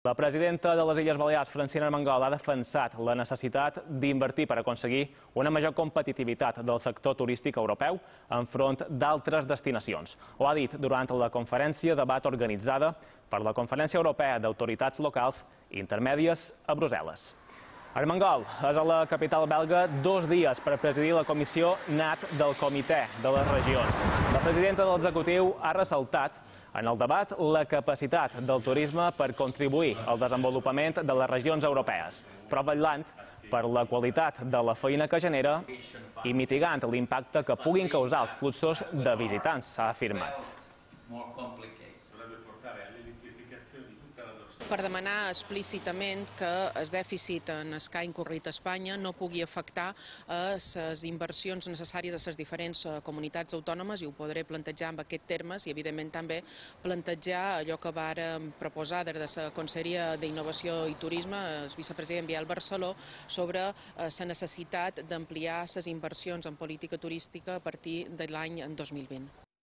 La presidenta de les Illes Balears, Francina Armengol, ha defensat la necessitat d'invertir per aconseguir una major competitivitat del sector turístic europeu enfront d'altres destinacions. Ho ha dit durant la conferència debat organitzada per la Conferència Europea d'Autoritats Locals Intermèdies a Brussel·les. Armengol és a la capital belga 2 dies per presidir la comissió NAT del Comitè de les Regions. La presidenta de l'executiu ha ressaltat en el debat la capacitat del turisme per contribuir al desenvolupament de les regions europees, però vetllant per la qualitat de la feina que genera i mitigant l'impacte que puguin causar els fluxos de visitants, s'ha afirmat. Per demanar explícitament que el dèficit en el que ha incorrit Espanya no pugui afectar les inversions necessàries a les diferents comunitats autònomes, i ho podré plantejar en aquests termes, i evidentment també plantejar allò que vàrem proposar des de la Conselleria d'Innovació i Turisme, el vicepresident Biel Barceló, sobre la necessitat d'ampliar les inversions en política turística a partir de l'any 2020.